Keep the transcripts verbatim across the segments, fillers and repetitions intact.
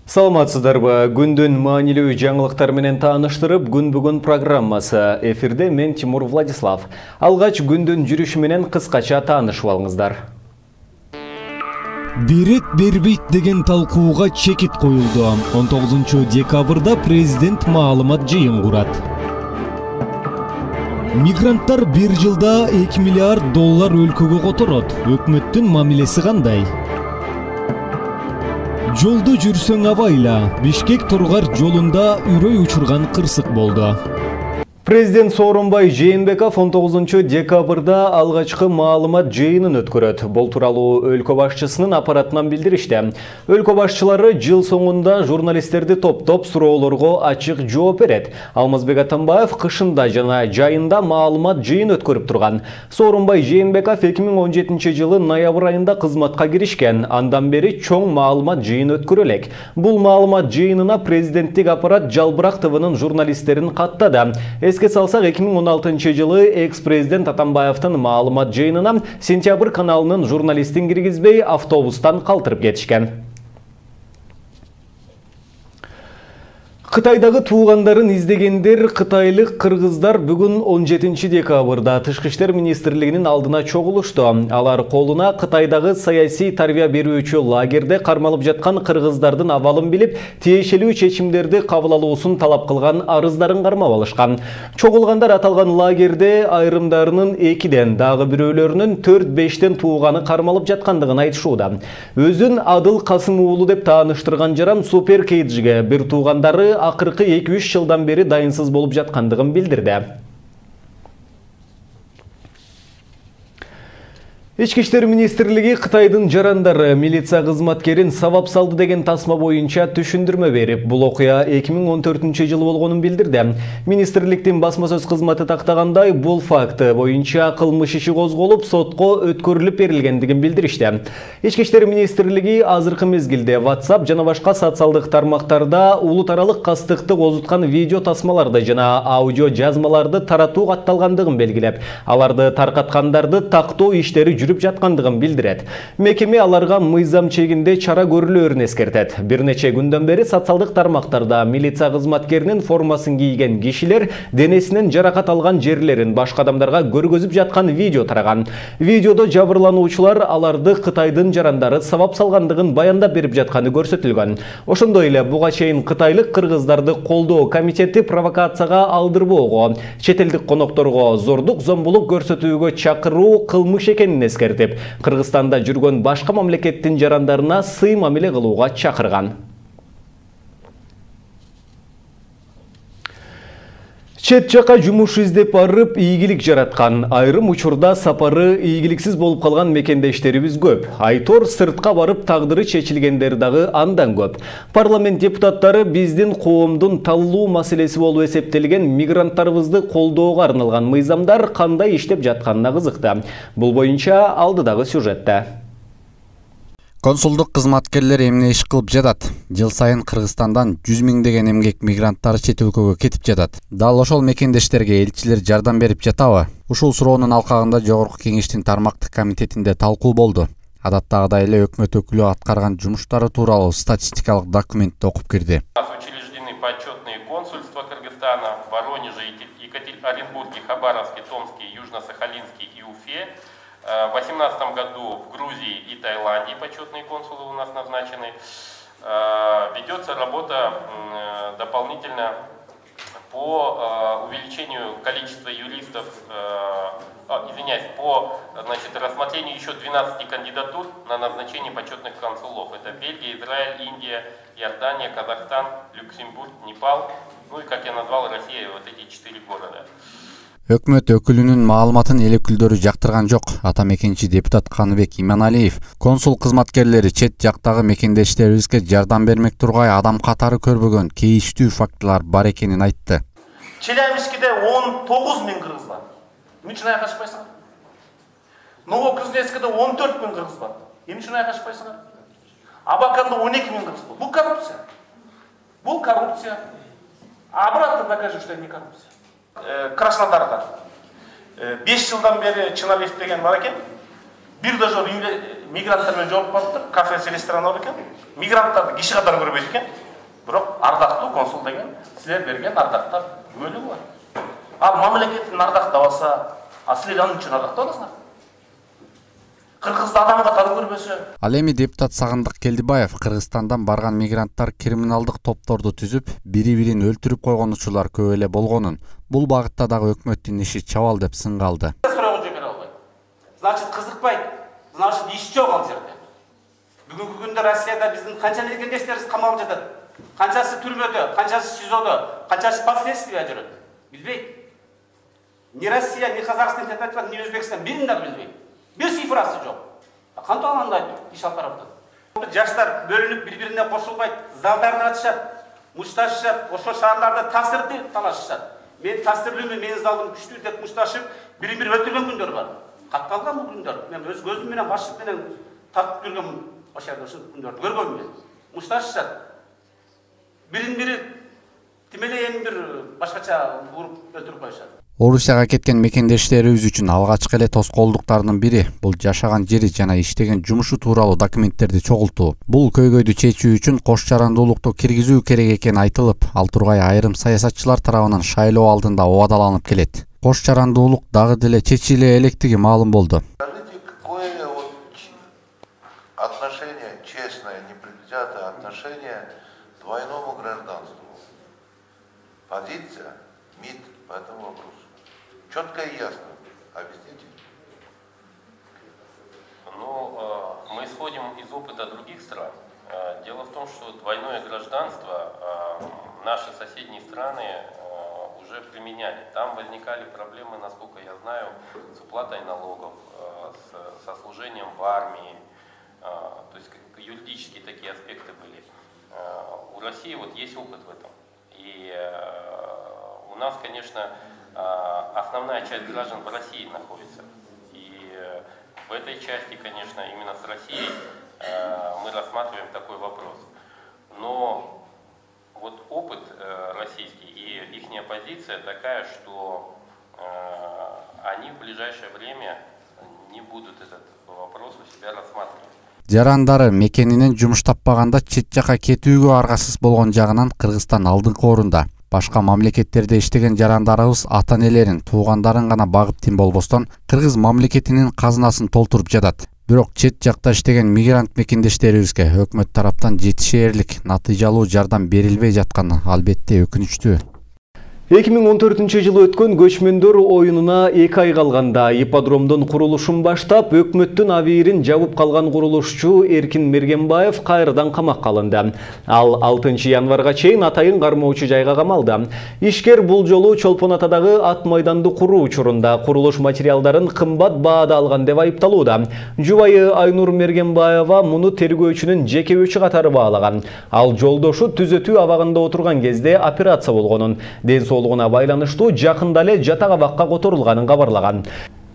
Саламатсыздарбы, күндүн маанилүү жаңылыктар менен тааныштырып, күн бүгүн программасы. Эфирде мен Тимур Владислав. Алгач күндүн жүрүшү менен кыскача таанышып алыңыздар. Берет бербейт деген талкууга чекит коюлду. он тогузунчу декабрда президент маалымат жыйын курат. Мигранттар бир жылда эки миллиард доллар өлкөгө которот. Өкмөттүн мамилеси кандай? Жолду жүрсөң абайла. Бишкек Тургар жолунда үрөй учурган кырсык болду. Президент Сооронбай Жээнбеков он тогузунчу декабрда алгачкы маалымат жыйынын өткөрөт. Бул тууралуу өлкө башчысынын аппаратынан билдиришти. Өлкө башчылары жыл соңунда журналисттерди топтоп суроолорго ачык жооп берет. Алмазбек Атамбаев кышында жана жайында маалымат жыйын өткөрүп турган. Сооронбай Жээнбеков эки миң он жетинчи жылы ноябрь айында кызматка киришкен. Андан бери чоң маалымат жыйын өткөрө элек. Бул маалымат жыйынына президенттик аппарат Жалбырак ТВнын журналисттерин каттады. Эске салсак, эки миң он алтынчы жылы экс-президент Атамбаевдин маалымат жыйынына Сентябрь каналынын журналистин киргизбей автобустан калтырып кетишкен. Кытайдагы туугандарын издегендер кытайлык кыргыздар бүгүн он жетинчи декабрда Тышкы иштер министрлигинин алдына чогулушту. Алар колуна Кытайдагы саясий тарбия берүүчү лагерде кармалып жаткан кыргыздардын абалын билип, тиешелүү чечимдерди кабыл алуусун талап кылган арыздарын кармап алышкан. Чогулгандар аталган лагерде айрымдарынын экиден, дагы бирөөлөрүнүн төрт бештен тууганы кармалып жаткандыгын айтышууда. Өзүн Адыл Касым уулу деп тааныштырган жаран Супер Кейджиге бир туугандары акыркы эки үч жылдан бери дайынсыз болуп жаткандыгын билдирди. Ички иштер министрлиги Кытайдын жарандары милиция кызматкерин сабап салды деген тасма боюнча түшүндүрмө берип, бул окуя эки миң он төртүнчү жылы болгонун билдирди. Министрликтин басма сөз кызматы тактагандай, бул факты боюнча кылмыш иши козголуп, сотко өткөрүлүп берилгендигин билдиришти. Ички иштер министрлиги азыркы мезгилде WhatsApp жана башка социалдык тармактарда улут аралык кастыкты козуткан видео тасмаларды жана аудио жазмаларды таратуу катталгандыгын белгилеп, аларды таркаткандарды тактоо иштери жүрүп жаткандыгын билдирет. Мекеме аларга мыйзам чегинде чара көрүлөөрүн эскертет. Бир нече күндөн бери социалдык тармактарда милиция кызматкеринин формасын кийген кишилер денесинен жаракат алган жерлерин башка адамдарга көргөзүп жаткан видео тараган. Видеодо жабырлануучулар аларды Кытайдын жарандары сабап салгандыгын баяндап берип жатканы көрсөтүлгөн. Ошондой эле буга чейин кытайлык кыргыздарды колдоо комитети провокацияга алдырбоого, чет элдик конокторго зордук зомбулук көрсөтүүгө чакыруу кылмыш экенин эскертип, Кыргызстанда жүргөн башка мамлекеттин жарандарына сый мамиле кылууга чакырган. Чет жака жумуш издеп барып, ийгилик жараткан, айрым учурда сапары ийгиликсиз болуп калган мекендештерибиз көп. Айтор сыртка барып тагдыры чечилгендер дагы андан көп. Парламент депутаттары биздин коомдун таллуу маселеси болуп эсептелген мигранттарыбызды колдоого арналган мыйзамдар кандай иштеп жатканына кызыкты. Бул боюнча алдыдагы сюжетте. Консулдук кызматкерлер эмне иш кылып жатат? Жыл сайын Кыргызстандан жүз миңдеген эмгек мигранттары чет өлкөгө кетип жатат. Дал ошол мекендештерге элчилер жардам берип жатабы? Ушул суроонун алкагында Жогорку Кеңештин тармактык комитетинде талкуу болду. Адаттагыдай эле өкмөт өкүлү аткарган жумуштары тууралуу статистикалык документти окуп кирди. Учреждены почетные консульства Кыргызстана в Воронеже, Оренбурге, Хабаровске, Томске, Южно-Сахалинске и Уфе. В две тысячи восемнадцатом году в Грузии и Таиланде почетные консулы у нас назначены. Ведется работа дополнительно по увеличению количества юристов, извиняюсь, по значит, рассмотрению еще двенадцати кандидатур на назначение почетных консулов. Это Бельгия, Израиль, Индия, Иордания, Казахстан, Люксембург, Непал, ну и, как я назвал, Россия, вот эти четыре города. Өкмөт өкүлүнүн маалыматын эл өкүлдөрү жактырган жок. Ата мекенчи депутат Каныбек Иманалиев консул кызматкерлери чет жактагы мекендештерибизге жардам бермек тургай адам катары көрбөгөн кейиштүү фактылар бар экенин айтты. Челябинскиде он тогуз миң кыргыз бар. Эмне үчүн айкашпайсыңар? Новокузнецкиде он төрт миң кыргыз бар. Эмне үчүн айкашпайсыңар? Абаканда он эки миң кыргыз бар. Бул коррупция. Бул коррупция. Обратно докажи, что это не коррупция. Краснодарда беш жылдан бери Чыналиев деген бар экен. Бир дожор мигранттар менен жолугуп калыптыр, кафеси, ресторан бар экен. Мигранттарды киши катары көрбөйт экен. Бирок ардактуу консул деген силер берген ардактар бөлүгү бар. Ал мамлекетин ардактабаса, а силер анын үчүн ардактап атасыңар. Кыргызда адам катары көрбөсө. Ал эми депутат Сагындык Келдибаев Кыргызстандан барган мигранттар криминалдык топторду түзүп, бири-бирин өлтүрүп койгон учурлар көп эле болгонун, бул багытта дагы өкмөттүн иши чабал деп сынгалды. Суроо жибере албайт. Значит, кызыкпайт. Значит, иш жок ал жерде. Бүгүнкү күндө Россияда биздин канча мекендештерибиз камалып жатат. Канчасы түрмөдө, канчасы СИЗОдо, канчасы под следствие жүрөт. Билбейт. Ни Россия, ни Казакстан, ни Өзбекстан бирин дагы билбейт. Бир цифрасы жок. Кантип андай иш алып барат? Жаштар бөлүнүп бири-бирине кошулбайт, залдарды ачышат, мушташышат, ошо шаарларда таасирди талашышат. Мен таасирлүүмүн, менин залдым күчтүү деп мушташып, бири-бири өлтүргөн күндөр бар. Катталган бул күндөр. Мен өз көзүм менен башым менен тартып көргөм, ошол жерде ушул күндөрдү көргөм мен. Мушташышат. Бирин-бири тимелейин бир башкача уруп өлтүрүп коюшат. Орусияга кеткен мекендештерибиз үчүн алгачкы эле тоскоолдуктардын бири бул жашаган жери жана иштеген жумушу тууралуу документтерди чогултуу. Бул көйгөйдү чечүү үчүн кош жарандуулукту киргизүү керек экени айтылып, ал тургай айрым саясатчылар тарабынан шайлоо алдында убадаланып келет. Кош жарандуулук дагы деле чечиле электиги маалым болду. Отношение честное, непредвзятое отношение к двойному гражданству. Позиция МИД по этому вопросу. Четко и ясно. Объясните. Ну, мы исходим из опыта других стран. Дело в том, что двойное гражданство наши соседние страны уже применяли. Там возникали проблемы, насколько я знаю, с уплатой налогов, с, со служением в армии. То есть юридические такие аспекты были. У России вот есть опыт в этом. И у нас, конечно, основная часть граждан в России находится. И в этой части, конечно, именно с Россией мы рассматриваем такой вопрос. Но вот опыт российский и их позиция такая, что они в ближайшее время не будут этот вопрос у себя рассматривать. Жарандары мекенинен жумуш таппаганда чет жака кетүүгө аргасыз болгон жагынан Кыргызстан алдыңкы орунда. Башка мамлекеттерде иштеген жарандарыбыз ата-энелерин, туугандарын гана багып тим болбостон, Кыргыз мамлекетинин казынасын толтуруп жатат. Бирок чет жакта иштеген мигрант мекендештерибизге өкмөт тараптан жетишээрлик, натыйжалуу жардам берилбей жатканы албетте өкүнүчтүү. эки миң он төртүнчү жылы өткөн көчмөндөр оюнуна эки ай калганда ипподромдун курулушун баштап, өкмөттүн абийирин жабып калган курулушчу Эркин Мергенбаев кайрадан камакка алынды. Ал алтынчы январга чейин атайын кармоочу жайга камалды. Ишкер бул жолу Чолпон Атадагы ат майданды куруу учурунда курулуш материалдарын кымбат баада алган деп айыпталууда. Жубайы Айнур Мергенбаева муну тергөөчүнүн жеке өчү катары баалаган. Ал жолдошу түзөтүү абагында отурган кезде операция болгонун, ден соолугуна байланыштуу жакында эле жатак абакка которулганын кабарлаган.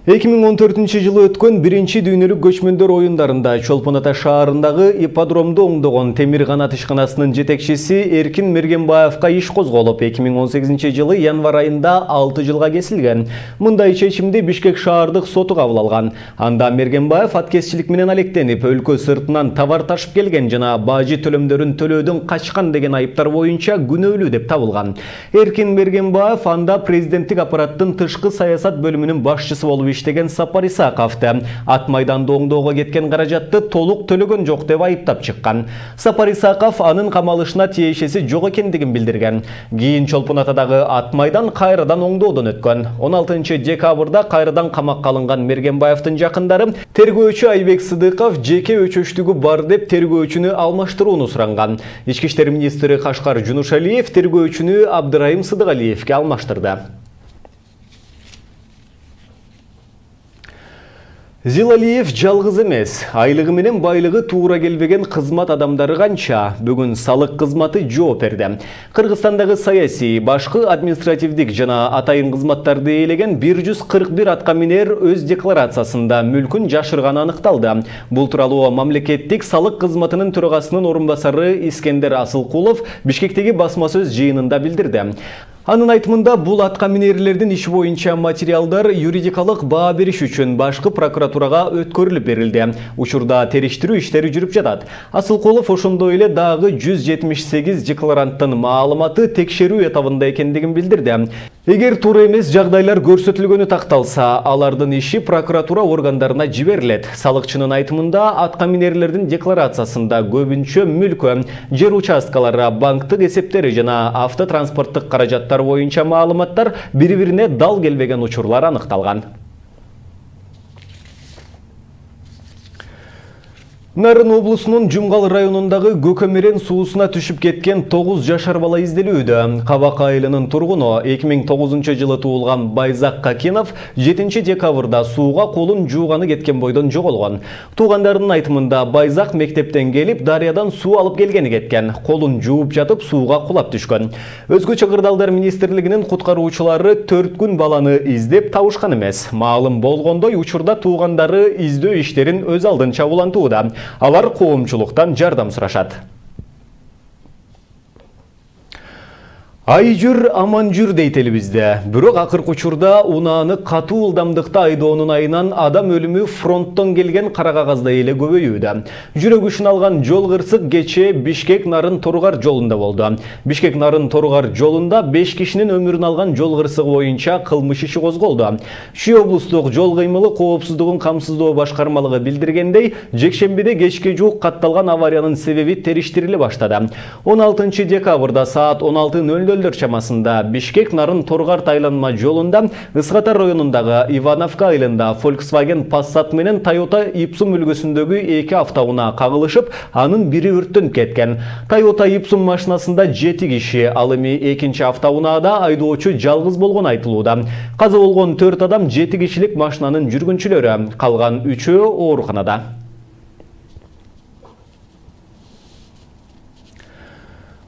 эки миң он төртүнчү жылы өткөн биринчи дүйнөлүк көчмөндөр оюндарында Чолпон Ата шаарындагы ипподромду оңдогон темир канат ишканасынын жетекчиси Эркин Мергенбаевка иш козголуп, эки миң он сегизинчи жылы январь айында алты жылга кесилген. Мындай чечимди Бишкек шаардык соту кабыл алган. Анда Мергенбаев аткезчилик менен алектенип, өлкө сыртынан товар ташып келген жана бажы төлөмдөрүн төлөөдөн качкан деген айыптар боюнча күнөөлүү деп табылган. Эркин Мергенбаев анда президенттик аппараттын тышкы саясат бөлүмүнүн башчысы болуп иштеген Сапар Исаковду ат майданды оңдоого кеткен каражатты толук төлөгөн жок деп айыптап чыккан. Сапар Исаков анын камалышына тиешеси жок экендигин билдирген. Кийин Чолпон Атадагы ат майдан кайрадан оңдоодон өткөн. он алтынчы декабрда кайрадан камакка алынган Мергенбаевдин жакындары тергөөчү Айбек Сыдыков жеке өчөчтүгү бар деп тергөөчүнү алмаштырууну суранган. Ички иштер министри Кашкар Жунушалиев тергөөчүнү Абдырайым Сыдыгалиевке алмаштырды. Зилалиев жалгыз эмес. Айлыгы менен байлыгы туура келбеген кызмат адамдары канча? Бүгүн салык кызматы жооп берди. Кыргызстандагы саясий, башкы административдик жана атайын кызматтарды ээлеген бир жүз кырк бир атка минер өз декларациясында мүлкүн жашырганы аныкталды. Бул тууралуу мамлекеттик салык кызматынын төрагасынын орун басары Искендер Асылкулов Бишкектеги басма сөз жыйынында билдирди. Анын айтымында бул атка минерлердин иши боюнча материалдар юридикалык баа бериш үчүн башкы прокуратурага өткөрүлүп берилди. Учурда териштирүү иштери жүрүп жатат. Асылкулов ошондой эле дагы жүз жетимиш сегиз декларанттын маалыматы текшерүү этабында экендигин билдирди. Эгер туура эмес жагдайлар көрсөтүлгөнү такталса, алардын иши прокуратура органдарына жиберилет. Салыкчынын айтымында атка минерлердин декларациясында көбүнчө мүлкө, жер участкалары, банктык эсептери жана автотранспорттук каражаттар боюнча маалыматтар бири-бирине дал келбеген учурлар аныкталган. Нарын облусунун Жумгал районундагы Көкөмерен суусуна түшүп кеткен тогуз жашар бала изделүүдө. Кабак айылынын тургуну эки миң тогузунчу жылы туулган Байзак Какинов жетинчи декабрда сууга колун жууганы кеткен бойдон жоголгон. Туугандарынын айтымында Байзак мектептен келип, дарыядан суу алып келгени кеткен. Колун жууп жатып сууга кулап түшкөн. Өзгөчө Кырдаалдар министрлигинин куткаруучулары төрт күн баланы издеп табышкан эмес. Маалым болгондой, учурда туугандары издөө иштерин өз алдынча улантууда. Алар коомчулуктан жардам сурашат. Ай жүр, аман жүр дейт элибизде. Бирок акыркы учурда унааны катуу ылдамдыкта айдоонун айынан адам өлүмү фронттон келген кара кагаздай эле көбөйүүдө. Жүрөк ишин алган жол кырсык кечээ Бишкек Нарын Торгар жолунда болду. Бишкек Нарын Торгар жолунда беш кишинин өмүрүн алган жол кырсыгы боюнча кылмыш иши козголду. Чүй облустук жол кыймылы коопсуздугун камсыздоо башкармалыгы билдиргендей, жекшембиде кечке жуук катталган авариянын себеби териштириле баштады. он алтынчы декабрда саат он алты ноль ноль чамасында Бишкек Нарын Торгар тайланма жолунда Ыскатар районундагы Ивановка айылында Volkswagen Passat менен Toyota Ipsum үлгүсүндөгү эки автоунаа кагылышып, анын бири өрттөнүп кеткен. Toyota Ipsum машинасында жети киши, ал эми экинчи автоунаада айдоочу жалгыз болгон айтылууда. Каза болгон төрт адам жети кишилик машинанын жүргүнчүлөрү, калган үчөө ооруканада.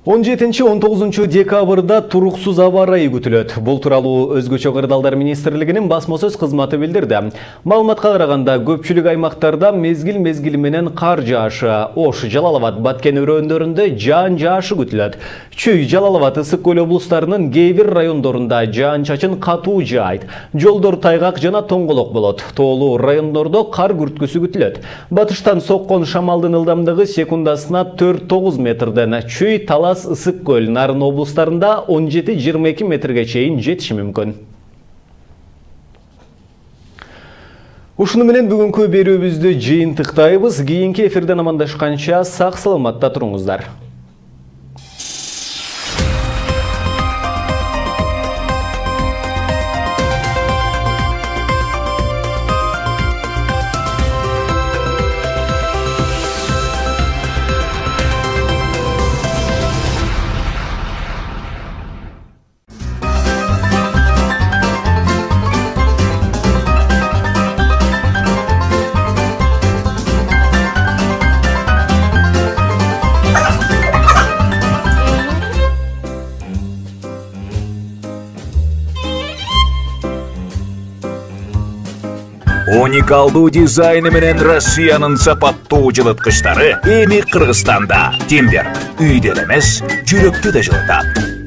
он жетинчи он тогузунчу декабрда туруксуз аба ырайы күтүлөт. Бул тууралуу Өзгөчө Кырдаалдар министрлигинин басма сөз кызматы билдирди. Маалыматка караганда көпчүлүк аймактарда мезгил-мезгили менен кар жаашы, Ош, Жалал-Абад, Баткен өрөөндөрүндө жаан жаашы күтүлөт. Чүй, Жалал-Абад, Ысык көл облустарынын кээ бир райондорунда жаан-чачын катуу жаайт. Жолдор тайгак жана тоңголок болот. Тоолуу райондордо кар күрткүсү күтүлөт. Батыштан соккон шамалдын ылдамдыгы секундасына төрт тогуз метрден, Чүй, Талас, Ысык көл, Нарын облустарында он жети жыйырма эки метрге чейин жетиши мүмкүн. Ушуну менен бүгүнкү берүүбүздү жыйынтыктайбыз. Кийинки эфирден амандашканча сак саламатта туруңуздар. Уникалдуу дизайны менен Россиянын сапаттуу жылыткычтары эми Кыргызстанда. Тимбер үйдө эмес, жүрөктү да жылытат.